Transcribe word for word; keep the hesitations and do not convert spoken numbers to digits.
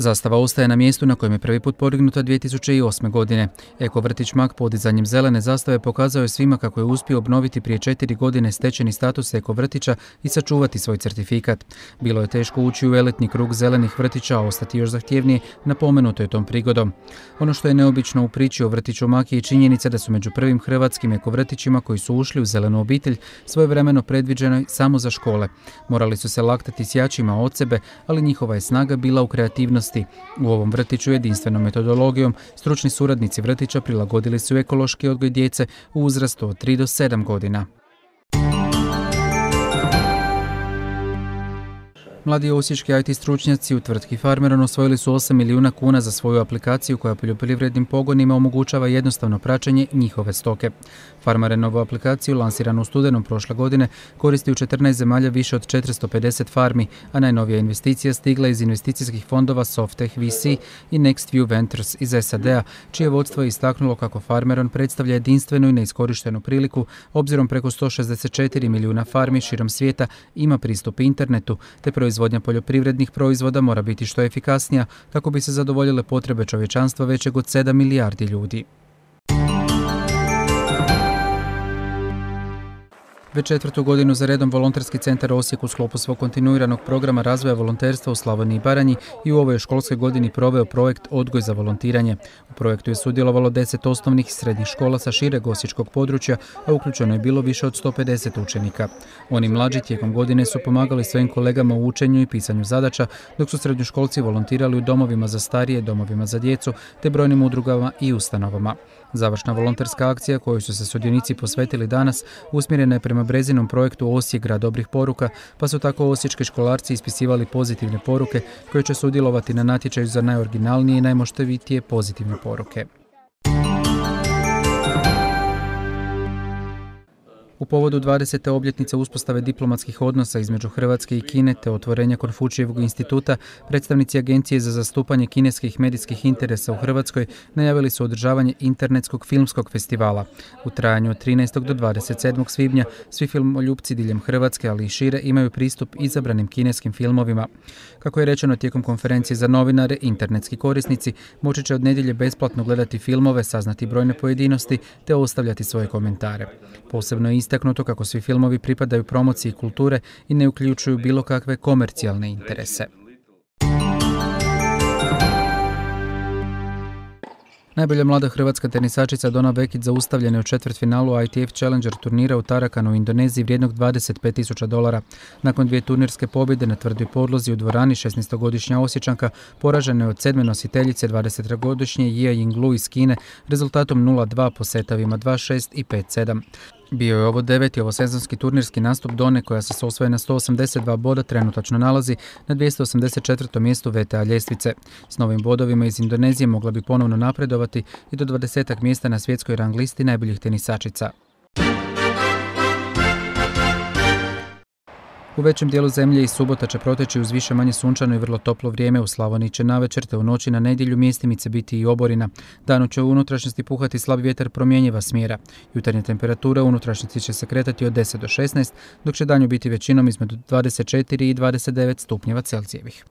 Zastava ostaje na mjestu na kojem je prvi put podignuta dvije tisuće osme. godine. Eko vrtić Mak podizanjem zelene zastave pokazao je svima kako je uspio obnoviti prije četiri godine stečeni status eko vrtića i sačuvati svoj certifikat. Bilo je teško ući u elitni krug zelenih vrtića, a ostati još zahtjevnije, napomenuto je tom prigodom. Ono što je neobično u priči o vrtiću Mak je činjenica da su među prvim hrvatskim eko vrtićima koji su ušli u zelenu obitelj svojevremeno predviđeno samo za škole. Morali su se laktati s jačima od sebe, ali njihova je snaga bila u kreativnosti. U ovom vrtiću jedinstvenom metodologijom stručni suradnici vrtića prilagodili su ekološki odgoj djece u uzrastu od tri do sedam godina. Mladi osječki I T stručnjaci u tvrtki Farmeron osvojili su osam milijuna kuna za svoju aplikaciju koja poljoprivrednim pogonima omogućava jednostavno praćenje njihove stoke. Farmerenovu aplikaciju, lansiranu u studenom prošle godine, koristi u četrnaest zemalja više od četiristo pedeset farmi, a najnovija investicija stigla iz investicijskih fondova Softech V C i NextView Ventures iz S A D-a, čije vodstvo je istaknulo kako Farmeron predstavlja jedinstvenu i neiskorištenu priliku, obzirom preko sto šezdeset četiri milijuna farmi širom svijeta ima pristup internetu, te proizvodnja poljoprivrednih proizvoda mora biti što efikasnija kako bi se zadovoljile potrebe čovječanstva većeg od sedam milijardi ljudi. Već četvrtu godinu za redom Volonterski centar Osijek u sklopu svog kontinuiranog programa razvoja volonterstva u Slavoniji i Baranji i u ovoj školskoj godini proveo projekt Odgoj za volontiranje. U projektu je sudjelovalo deset osnovnih i srednjih škola sa šireg osječkog područja, a uključeno je bilo više od sto pedeset učenika. Oni mlađi tijekom godine su pomagali svojim kolegama u učenju i pisanju zadaća, dok su srednjoškolci volontirali u domovima za starije, domovima za djecu, te brojnim udrugama i ustanovama. Završna volonterska akcija kojoj su se sudionici posvetili danas usmjerena je prema Brezinom projektu Osijek grad dobrih poruka, pa su tako osječki školarci ispisivali pozitivne poruke koje će sudjelovati na natječaju za najoriginalnije i najmoštevitije pozitivne poruke. U povodu dvadesete obljetnice uspostave diplomatskih odnosa između Hrvatske i Kine te otvorenja Konfučijevog instituta, predstavnici Agencije za zastupanje kineskih medijskih interesa u Hrvatskoj najavili su održavanje internetskog filmskog festivala. U trajanju od trinaestog do dvadeset sedmog svibnja svi filmoljupci diljem Hrvatske, ali i šire, imaju pristup izabranim kineskim filmovima. Kako je rečeno tijekom konferencije za novinare, internetski korisnici moći će od nedjelje besplatno gledati filmove, saznati brojne pojedinosti te ostavljati svoje komentare. Posebno je istaknuto kako svi filmovi pripadaju promociji kulture i ne uključuju bilo kakve komercijalne interese. Najbolja mlada hrvatska tenisačica Dona Vekić zaustavljena je u četvrtfinalu I T F Challenger turnira u Tarakanu u Indoneziji vrijednog dvadeset pet tisuća dolara. Nakon dvije turnirske pobjede na tvrdoj podlozi u dvorani, šesnaestogodišnja Osječanka poražena je od sedme nositeljice dvadesetogodišnje Jia Yinglu iz Kine rezultatom nula dva po setavima dva šest i pet sedam. Bio je ovo deveti ovosezonski turnirski nastup Done koja se s osvojena sto osamdeset dva boda trenutačno nalazi na dvjesto osamdeset četvrtom mjestu V T A ljestvice. S novim bodovima iz Indonezije mogla bi ponovno napredovati i do dvadesetak mjesta na svjetskoj rang listi najboljih tenisačica. U većem dijelu zemlje i subota će proteći uz više manje sunčano i vrlo toplo vrijeme. U Slavoniji će navečer te u noći na nedjelju mjestimice biti i oborina. Danu će u unutrašnjosti puhati slab vjetar promjenjiva smjera. Jutarnje temperature u unutrašnjosti će se kretati od deset do šesnaest, dok će danju biti većinom između dvadeset četiri i dvadeset devet stupnjeva Celzijevih.